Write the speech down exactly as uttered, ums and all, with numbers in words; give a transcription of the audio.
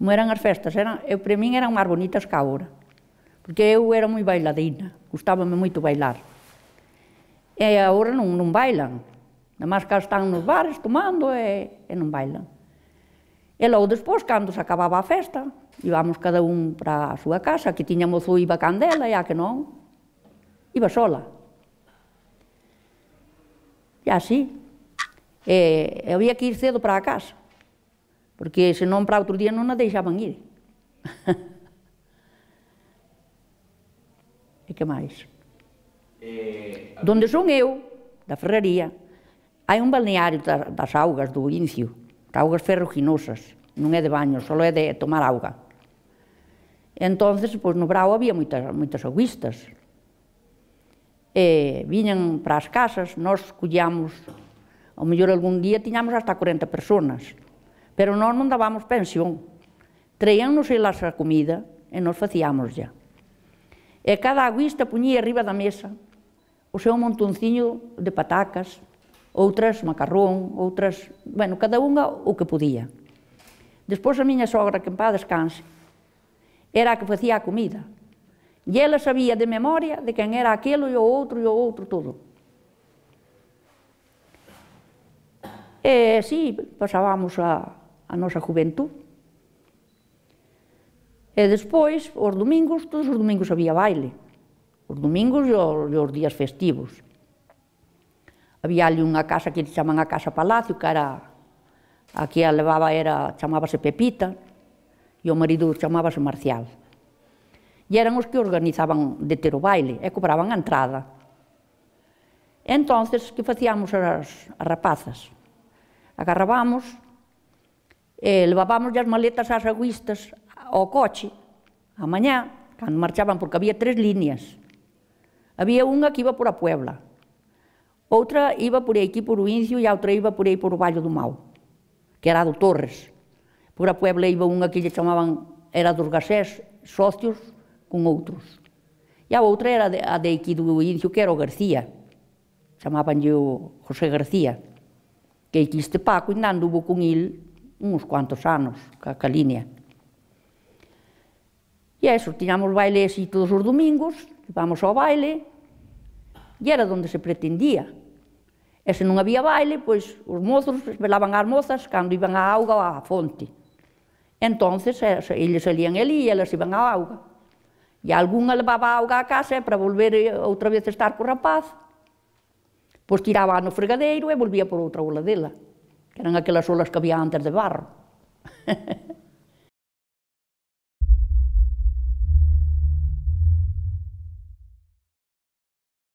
como eran as festas, eran, eu, para min eran máis bonitas que agora, porque eu era moi bailadina, gustábame moito bailar. E agora non, non bailan, nada máis que están nos bares tomando e, e non bailan. E logo despois, cando se acababa a festa, íbamos cada un para a súa casa, que tiña mozo iba candela e a que non, iba sola. E así. E, e había que ir cedo para a casa, porque senón para outro día non a deixaban ir. E que máis? Eh, Donde son eu, da Ferraría, hai un balneario das augas do Incio, augas ferruginosas, non é de baño, só é de tomar auga. E entonces, pois, no brao había moitas, moitas auguistas. E viñan para as casas, nós collíamos, ao mellor algún día tiñamos hasta corenta personas, pero nós non dábamos pensión. Traíannos elas a comida e nós facíamos ya. E cada auguista puñía arriba da mesa o seu montonciño de patacas, outras macarrón, outras, bueno, cada unha o que podía. Despois a miña sogra, que en paz descanse, era a que facía a comida. E ela sabía de memoria de quen era aquilo e o outro e o outro todo. E así pasábamos a, a nosa juventud. E despois, os domingos, todos os domingos había baile. Os domingos e os, e os días festivos. Había ali unha casa que chaman a Casa Palacio, que era, a que a levaba era, chamábase Pepita, e o marido chamábase Marcial. E eran os que organizaban de ter o baile, e cobraban a entrada. E entonces, que facíamos as, as rapazas? Agarrábamos, e levábamos as maletas ás auguistas ao coche, a mañá, cando marchaban, porque había tres líneas. Había unha que iba por a Puebla, outra iba por aquí por o Incio e a outra iba por aí por o Valle do Mau, que era a do Torres. Por a Puebla iba unha que lle chamaban, era dos gasés, socios con outros. E a outra era a de aquí do Incio, que era o García, chamabanlle o José García, que aquí este Paco ainda anduvo con il uns cuantos anos, ca, ca línea. E eso, tiñamos baile así todos os domingos, íbamos ao baile, e era donde se pretendía. E se non había baile, pois os mozos velaban as mozas cando iban á auga ou á fonte. Entonces, eles salían ali e elas iban á auga. E algunha levaba a auga á casa para volver outra vez a estar co rapaz, pois tiraba no fregadeiro e volvía por outra ola dela, que eran aquelas olas que había antes de barro.